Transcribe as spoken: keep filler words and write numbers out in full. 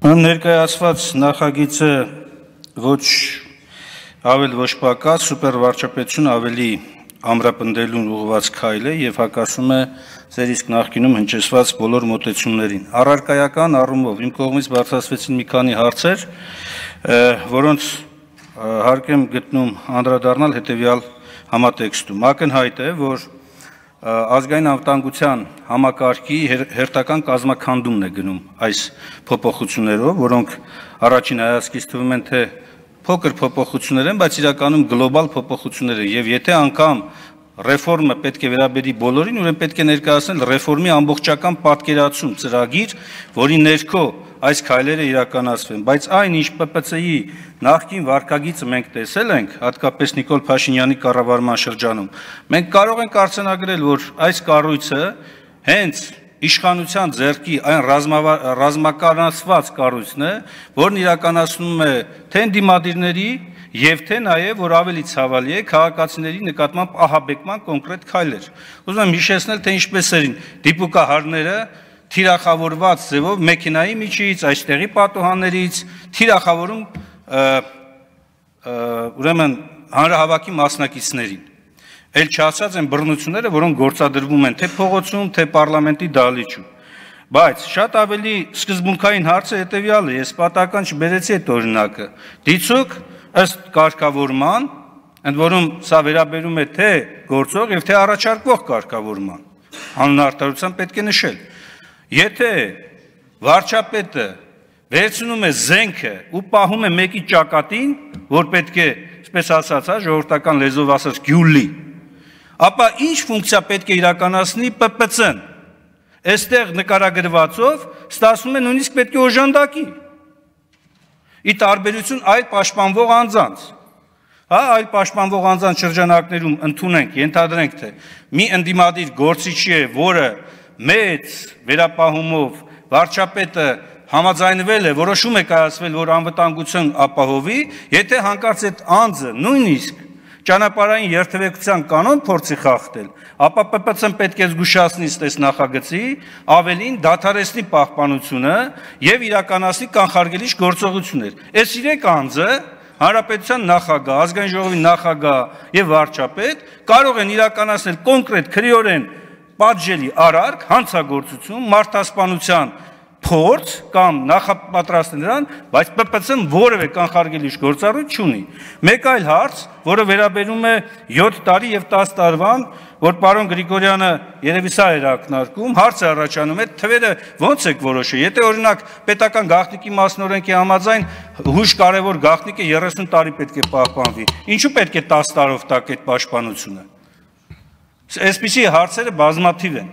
Ներկայացված նախագիծը ոչ ավել ոչ պակաս սուպերվարչապետություն ավելի ամրապնդելուն ուղղված քայլ է եւ հակասում է ձեր իսկ նախկինում հնչեցված բոլոր մոտեցումներին։ Առարկայական առումով իմ կողմից բարձրացվեցին մի քանի հարցեր, որոնց հարկ եմ գտնում անդրադառնալ հետեւյալ համատեքստում։ Ակնհայտ է, որ ազգային անվտանգության համակարգի հերթական կազմաքանդումն է գնում այս փոփոխություններով, որոնք առաջին հայացքից թվում են թե փոքր փոփոխություններ են, բայց իրականում գլոբալ փոփոխություններ են, եւ եթե անգամ ռեֆորմը պետք է վերաբերի բոլորին, ուրեմն պետք է ներկայացնել ռեֆորմի ամբողջական պատկերացում, ծրագիր, որի ներքո այս քայլերը իրականացվեն, բայց այն ինչ Պ Պ Ց-ի նախկին վարքագիծը մենք տեսել ենք, հատկապես Նիկոլ Փաշինյանի կառավարման շրջանում, մենք կարող ենք արձանագրել, որ այս կառույցը հենց իշխանության ձեռքի այն ռազմականացված կառույցն է, որն իրականացնում է թե ընդդիմադիրների եւ թե նաեւ որ ավելի ցավալի է քաղաքացիների նկատմամբ ահաբեկման կոնկրետ քայլեր։ Ուզում եմ հիշեցնել, թե ինչպես էին դիպուկահարները թիրախավորված ձևով մեքենայի միջից, այստեղի պատուհաններից թիրախավորում ուրեմն հանրահավաքի մասնակիցներին։ Էլ չասած են բռնությունները, որոնք գործադրվում են թե փողոցում, թե պարլամենտի դահլիճում։ Բայց շատ ավելի սկզբունքային հարցը հետեւյալը է, ես պատահական չբերեցի այդ օրինակը։ Դիցուք ըստ կարգավորման, ընդ որում սա վերաբերում է թե գործող եւ թե առաջարկվող կարգավորման, անուն արտադրության պետք է նշել։ Եթե վարչապետը վերցնում է զենքը ու պահում է մեկի ճակատին, որ պետք է, այսպես ասած, հա, ժողովրդական լեզվով ասած, գյուլի, ապա ինչ ֆունկցիա պետք է իրականացնի Պ Պ Ց-ն։ Այստեղ նկարագրվածով ստացվում է նույնիսկ պետք է օժանդակի։ Ի տարբերություն այլ պաշտպանվող անձանց, հա, այլ պաշտպանվող անձանց շրջանակներում ընդունենք, ենթադրենք, թե մի ընդդիմադիր գործիչի է, որը մեծ վերապահումով վարչապետը համաձայնվել է, որոշում է կայացվել, որ անվտանգություն ապահովի, եթե հանկարծ այդ անձը նույնիսկ ճանապարհային երթևեկության կանոն փորձի խախտել, ապա Պ Պ Ց-ն պետք է զգուշացնի ըստ նախագծի, ավելին դադարեցնի պահպանությունը եւ իրականացնի կանխարգելիչ գործողություններ։ Այս իրեք անձը Հանրապետության նախագահ, ազգային ժողովի նախագահ եւ վարչապետ կարող են իրականացնել կոնկրետ քրեորեն պատժելի արարք, հանցագործություն, մարդասպանության փորձ կամ նախապատրաստել նրան, բայց Պ Պ Ց-ն որևէ կանխարգելիչ գործառույթ չունի։ Մեկ այլ հարց, որը վերաբերում է յոթ տարի եւ տասը տարվան, որ պարոն Գրիգորյանը երևի սա էր ակնարկում, հարցը առաջանում է, թվերը ո՞նց եք որոշել։ Եթե օրինակ պետական գաղտնիքի մասնօրենքի համաձայն հույժ կարևոր գաղտնիքը երեսուն տարի պետք է պահպանվի, ինչու պետք է տասը տարով տակ այդ պաշտպանությունը։ Այսպիսի հարցերը բազմաթիվ են։